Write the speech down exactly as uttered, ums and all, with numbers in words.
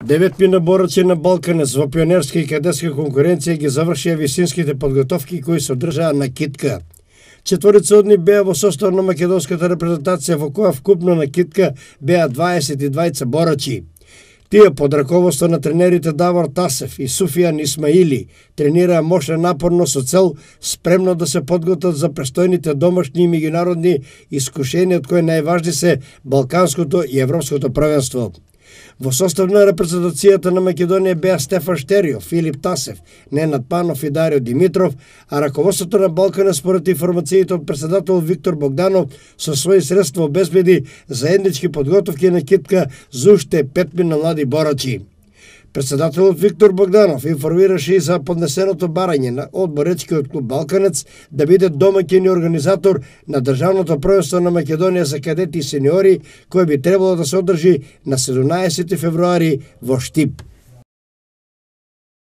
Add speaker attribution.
Speaker 1: Деветмина бораци на Балканец во пионерска и кадетска конкуренција ги завршија висинските подготовки кои се одржаа на китка. Четворица од нив беа во состав на македонската репрезентација во која вкупно на китка беа дваесет и дваица борачи. Тие под раководство на тренерите Давор Тасев и Суфијан Исмаили тренираа мощно напорно со цел спремно да се подготват за престојните домашни и меѓународни искушенија од кои најважни се Балканското и Европското првенство. Во состав на репрезентацијата на Македонија беа Стефан Штерио, Филип Тасев, Ненад Панов и Дарио Димитров, а раководството на Балкана според информациите од председател Виктор Богданов со своји средства обезбеди заеднички подготовки на китка за уште петмина млади борачи. Председателот Виктор Богданов информираше и за поднесеното барање на одборечкиот клуб Балканец да биде домаќин и организатор на државното првенство на Македонија за кадети и сениори, кој би требало да се одржи на седумнаесети февруари во Штип.